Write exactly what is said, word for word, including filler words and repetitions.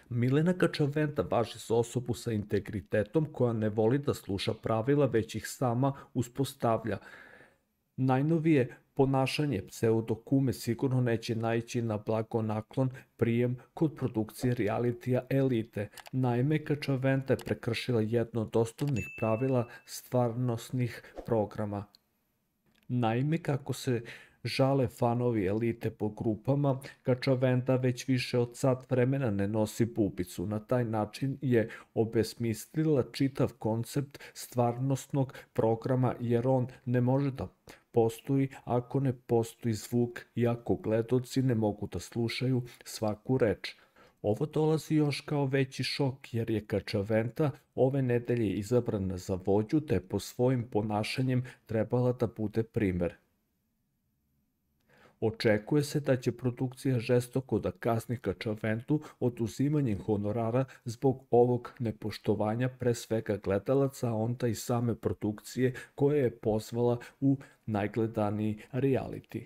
Milena Kačavenda važi za osobu sa integritetom koja ne voli da sluša pravila, već ih sama uspostavlja. Najnovije ponašanje pseudokume sigurno neće naići na blagonaklon prijem kod produkcije realitija Elite. Naime, Kačavenda je prekršila jedno od osnovnih pravila stvarnosnih programa. Naime, kako se žale fanovi Elite po grupama, Kačavenda već više od sat vremena ne nosi bubicu. Na taj način je obesmislila čitav koncept stvarnosnog programa, jer on ne može da postoji ako ne postoji zvuk i ako gledaoci ne mogu da slušaju svaku reč. Ovo dolazi još kao veći šok, jer je Kačavenda ove nedelje izabrana za vođu, te po svojim ponašanjem trebala da bude primer. Očekuje se da će produkcija žestoko da kazni Kačavendu oduzimanjem honorara zbog ovog nepoštovanja pre svega gledalaca, a onda i same produkcije koja je pozvala u najgledaniji reality.